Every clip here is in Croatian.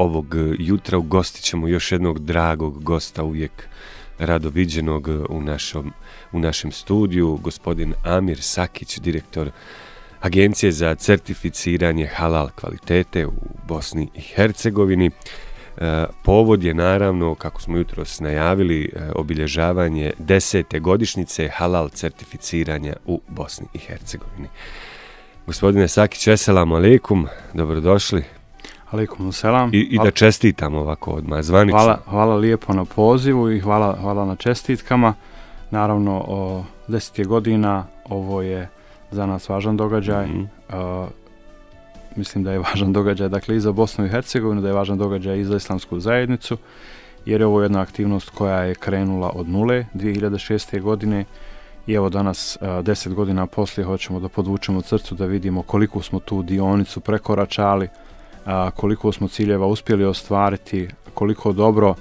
ovog jutra ugostit ćemo još jednog dragog gosta, uvijek rado viđenog u našem studiju, gospodin Amir Sakić, direktor Agencije za certificiranje halal kvalitete u Bosni i Hercegovini. Povod je naravno, kako smo jutros najavili, obilježavanje 10. godišnjice halal certificiranja u Bosni i Hercegovini. Gospodine Sakić, eselamu alejkum, dobrodošli. Alejkum selam. I da čestitam ovako odmah zvanično. Hvala lijepo na pozivu i hvala na čestitkama. Naravno, 10 godina, ovo je za nas važan događaj. Mislim da je važan događaj, dakle, i za Bosnu i Hercegovinu, da je važan događaj i za islamsku zajednicu, jer je ovo jedna aktivnost koja je krenula od nule 2006. godine i evo danas, 10 godina poslije, hoćemo da podvučemo crtu, da vidimo koliko smo tu dionicu prekoračali, koliko smo ciljeva uspjeli ostvariti, koliko dobro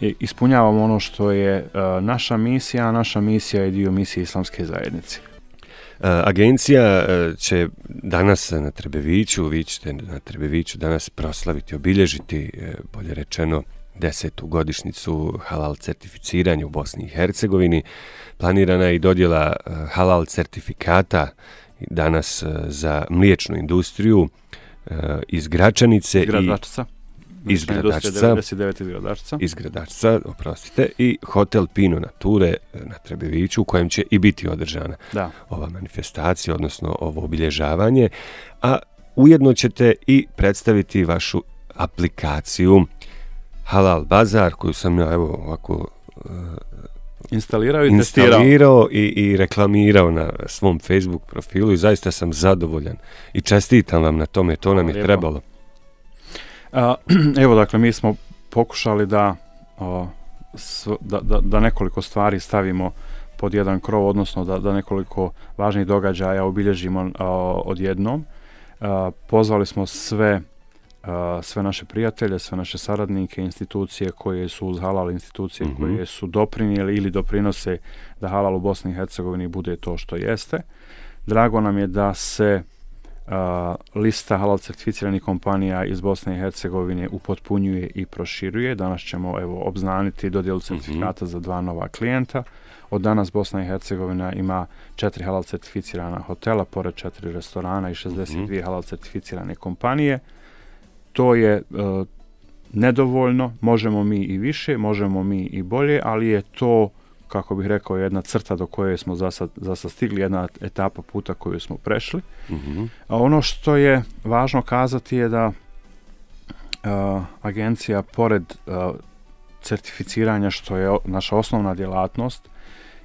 ispunjavamo ono što je naša misija, a naša misija je dio misije islamske zajednice. Agencija će danas na Trebeviću, vi ćete na Trebeviću danas proslaviti, obilježiti, bolje rečeno, 10. godišnjicu halal certificiranja u Bosni i Hercegovini. Planirana je i dodjela halal certifikata danas za mliječnu industriju iz Gračanice iz Gradačca, oprostite, i hotel Pino Nature na Trebeviću, u kojem će i biti održana ova manifestacija, odnosno ovo obilježavanje, a ujedno ćete i predstaviti vašu aplikaciju Halal Bazar, koju sam ja evo ovako instalirao i reklamirao na svom Facebook profilu i zaista sam zadovoljan i čestitam vam na tome, to nam je trebalo. Evo, dakle, mi smo pokušali da nekoliko stvari stavimo pod jedan krov, odnosno da nekoliko važnih događaja obilježimo odjednom. Pozvali smo sve naše prijatelje, sve naše saradnike, institucije koje su uz halal, institucije koje su doprinijeli ili doprinose da halal u Bosni i Hercegovini bude to što jeste. Drago nam je da se lista halal certificiranih kompanija iz Bosne i Hercegovine upotpunjuje i proširuje. Danas ćemo obznaniti dodjelu certifikata za 2 nova klijenta. Od danas Bosna i Hercegovina ima 4 halal certificirana hotela, pored 4 restorana i 62 halal certificirane kompanije. To je nedovoljno, možemo mi i više, možemo mi i bolje, ali je to, kako bih rekao, jedna crta do koje smo za sad stigli, jedna etapa puta koju smo prešli. A ono što je važno kazati je da agencija, pored certificiranja, što je naša osnovna djelatnost,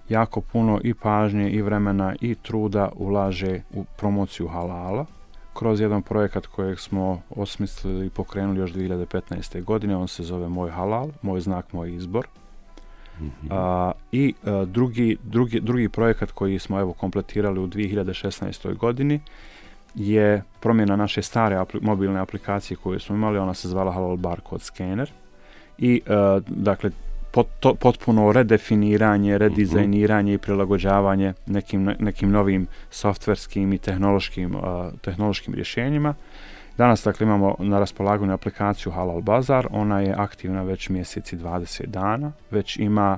jako puno i pažnje i vremena i truda ulaže u promociju halala kroz jedan projekat kojeg smo osmislili i pokrenuli još 2015. godine. On se zove Moj halal, moj znak, moj izbor. I drugi projekat koji smo kompletirali u 2016. godini je promjena naše stare mobilne aplikacije koju smo imali. Ona se zvala Halal Barcode Scanner i dakle potpuno redefiniranje, redizajniranje i prilagođavanje nekim novim softverskim i tehnološkim rješenjima. Danas, dakle, imamo na raspolaganju aplikaciju Halal Bazar. Ona je aktivna već mjeseci 20 dana, već ima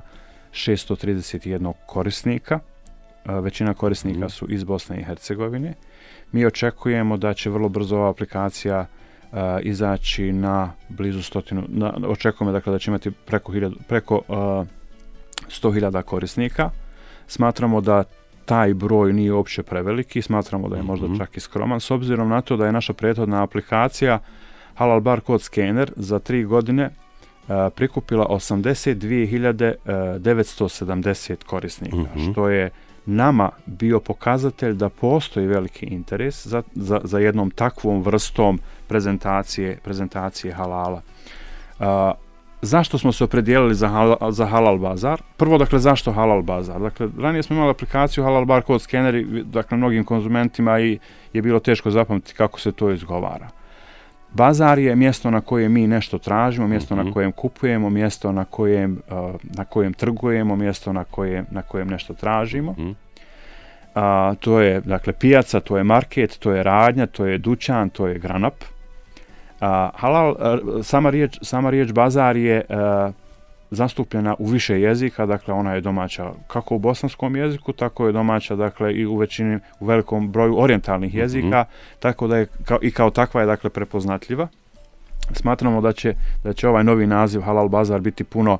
631 korisnika. Većina korisnika su iz Bosne i Hercegovine. Mi očekujemo da će vrlo brzo ova aplikacija izaći na blizu 100. Očekujemo, dakle, da će imati preko 100.000 korisnika. Smatramo da taj broj nije uopće preveliki, smatramo da je možda čak i skroman, s obzirom na to da je naša prethodna aplikacija Halal Barcode Scanner za 3 godine prikupila 82.970 korisnika, što je nama bio pokazatelj da postoji veliki interes za jednom takvom vrstom prezentacije halala. Zašto smo se opredijelili za Halal Bazar? Prvo, dakle, zašto Halal Bazar? Dakle, ranije smo imali aplikaciju Halal Barcode Scanner, dakle, mnogim konzumentima je bilo teško zapamtiti kako se to izgovara. Bazar je mjesto na kojem mi nešto tražimo, mjesto na kojem kupujemo, mjesto na kojem trgujemo, mjesto na kojem nešto tražimo. To je, dakle, pijaca, to je market, to je radnja, to je dućan, to je granap. Halal, sama riječ bazar je zastupljena u više jezika, dakle ona je domaća kako u bosanskom jeziku, tako je domaća dakle i u velikom broju orijentalnih jezika, tako da je kao takva je dakle prepoznatljiva. Smatramo da će ovaj novi naziv Halal bazar biti puno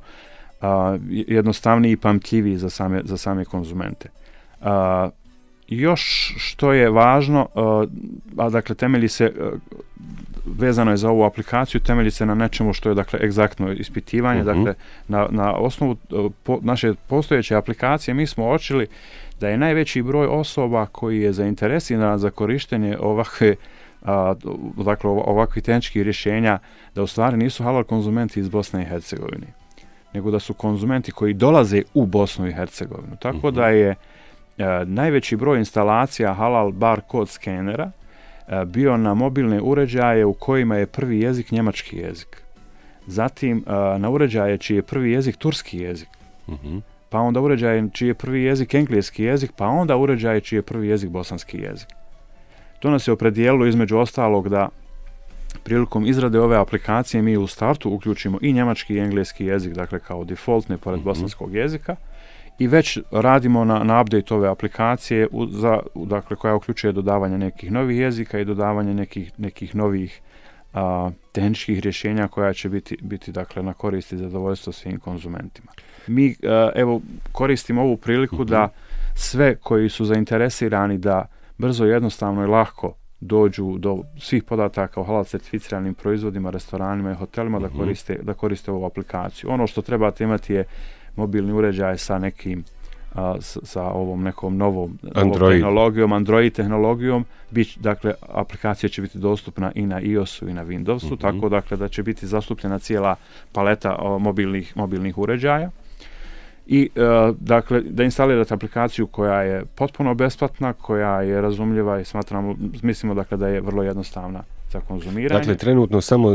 jednostavniji i pamtljiviji za same konzumente. Još što je važno, dakle temelji se, vezano je za ovu aplikaciju, temelji se na nečemu što je dakle egzaktno ispitivanje, dakle na osnovu naše postojeće aplikacije mi smo uočili da je najveći broj osoba koji je zainteresiran za korištenje ovakvih tehničkih rješenja, da u stvari nisu halal konzumenti iz Bosne i Hercegovine, nego da su konzumenti koji dolaze u Bosnu i Hercegovinu. Tako da je najveći broj instalacija halal barkod skenera bio na mobilne uređaje u kojima je prvi jezik njemački jezik. Zatim na uređaje čiji je prvi jezik turski jezik. Pa onda uređaje čiji je prvi jezik engleski jezik, pa onda uređaje čiji je prvi jezik bosanski jezik. To nas je opredijelilo između ostalog da prilikom izrade ove aplikacije mi u startu uključimo i njemački i engleski jezik, dakle kao defaultne pored bosanskog jezika, i već radimo na update ove aplikacije dakle, koja uključuje dodavanje nekih novih jezika i dodavanje nekih novih tehničkih rješenja koja će biti dakle, na korist i zadovoljstvo svim konzumentima. Mi evo koristimo ovu priliku da sve koji su zainteresirani da brzo, jednostavno i lako dođu do svih podataka o halal certificiranim proizvodima, restoranima i hotelima da koriste ovu aplikaciju. Ono što trebate imati je mobilni uređaj sa nekim sa ovom nekom novom tehnologijom, Android tehnologijom. Dakle, aplikacija će biti dostupna i na iOS-u i na Windowsu, tako dakle da će biti zastupljena cijela paleta mobilnih uređaja. I dakle, da instalirate aplikaciju koja je potpuno besplatna, koja je razumljiva i mislimo dakle da je vrlo jednostavna za konzumiranje. Dakle, trenutno samo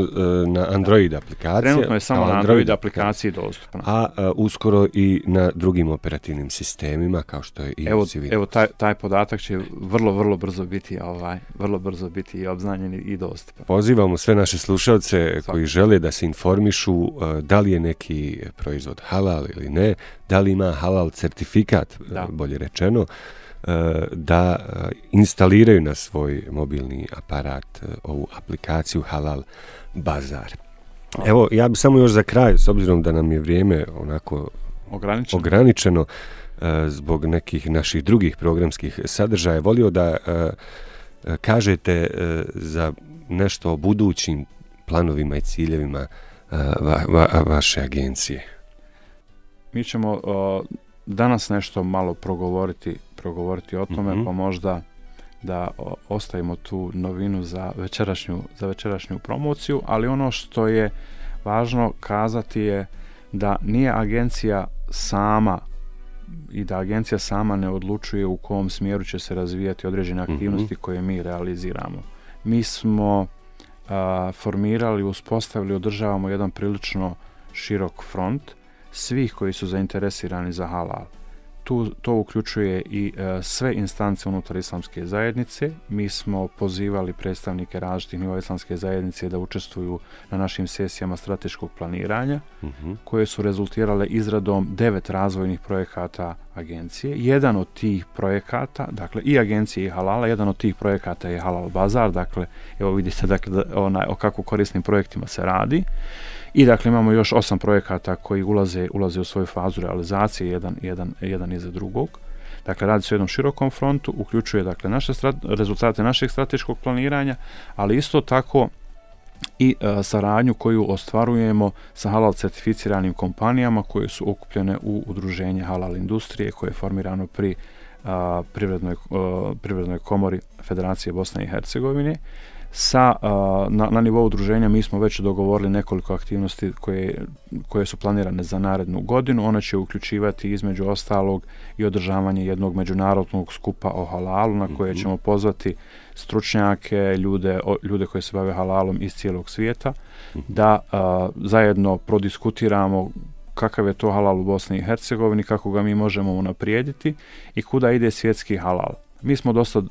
na Android aplikaciji. Trenutno je samo na Android aplikaciji dostupna. A uskoro i na drugim operativnim sistemima kao što je i Windows. Evo taj podatak će vrlo brzo biti i obznanjen i dostupan. Pozivamo sve naše slušalce koji žele da se informišu da li je neki proizvod halal ili ne, da li ima halal certifikat, bolje rečeno, da instaliraju na svoj mobilni aparat ovu aplikaciju Halal bazar. Evo, ja bih samo još za kraj, s obzirom da nam je vrijeme onako ograničeno zbog nekih naših drugih programskih sadržaja, volio da kažete za nešto o budućim planovima i ciljevima vaše agencije. Mi ćemo danas nešto malo progovoriti o tome, pa možda da ostavimo tu novinu za večerašnju promociju, ali ono što je važno kazati je da nije agencija sama i da agencija sama ne odlučuje u kom smjeru će se razvijati određene aktivnosti koje mi realiziramo. Mi smo formirali, uspostavili, održavamo jedan prilično širok front svih koji su zainteresirani za halal. To uključuje i sve instance unutar islamske zajednice. Mi smo pozivali predstavnike različitih nivoa islamske zajednice da učestvuju na našim sesijama strateškog planiranja, koje su rezultirale izradom 9 razvojnih projekata agencije. Jedan od tih projekata, dakle i agencije i halala, jedan od tih projekata je Halal bazar, dakle evo vidite dakle, o kako korisnim projektima se radi. I dakle imamo još 8 projekata koji ulaze u svoju fazu realizacije, jedan iza drugog. Dakle, radi se o jednom širokom frontu, uključuje dakle rezultate našeg strateškog planiranja, ali isto tako i saradnju koju ostvarujemo sa halal certificiranim kompanijama koje su okupljene u udruženje halal industrije koje je formirano pri Privrednoj komori Federacije Bosne i Hercegovine. Na nivou udruženja mi smo već dogovorili nekoliko aktivnosti koje su planirane za narednu godinu. One će uključivati između ostalog i održavanje jednog međunarodnog skupa o halalu na koje ćemo pozvati stručnjake, ljude koji se bave halalom iz cijelog svijeta, da zajedno prodiskutiramo kakav je to halal u Bosni i Hercegovini, kako ga mi možemo unaprijediti i kuda ide svjetski halal. Mi smo dosta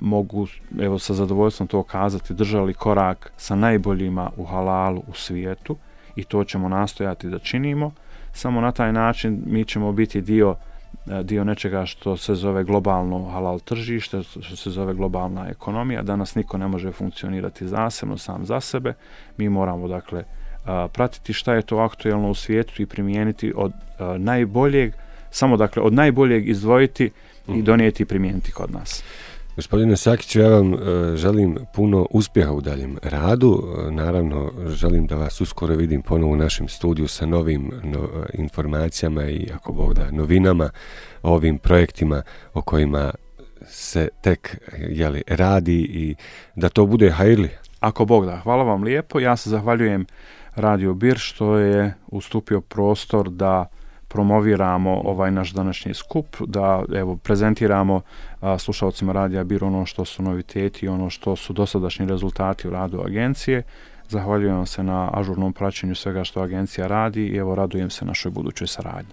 mogu, evo, sa zadovoljstvom to kazati, držali korak sa najboljima u halalu u svijetu i to ćemo nastojati da činimo. Samo na taj način mi ćemo biti dio nečega što se zove globalno halal tržište, što se zove globalna ekonomija. Danas niko ne može funkcionirati zasebno, sam za sebe. Mi moramo, dakle, pratiti šta je to aktuelno u svijetu i primijeniti od najboljeg, samo, dakle, od najboljeg izdvojiti i donijeti i primijeniti kod nas. Gospodine Sakiću, ja vam želim puno uspjeha u daljem radu. Naravno, želim da vas uskoro vidim ponovo u našem studiju sa novim informacijama i, ako Bog da, novinama o ovim projektima o kojima se tek radi i da to bude hajrli. Ako Bog da, hvala vam lijepo. Ja se zahvaljujem Radio Bir što je ustupio prostor da promoviramo ovaj naš današnji skup, da, evo, prezentiramo slušalcima Radija Bir ono što su noviteti i ono što su dosadašnji rezultati u radu agencije. Zahvaljujem vam se na ažurnom praćenju svega što agencija radi i, evo, radujem se našoj budućoj saradnji.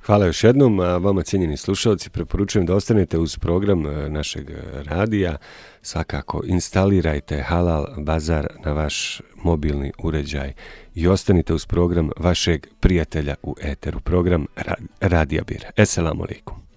Hvala još jednom, a vama, cijenjeni slušalci, preporučujem da ostanete uz program našeg radija. Svakako instalirajte Halal Bazar na vaš mobilni uređaj i ostanite uz program vašeg prijatelja u eteru, program Radija Bir. Esselamu alaikum.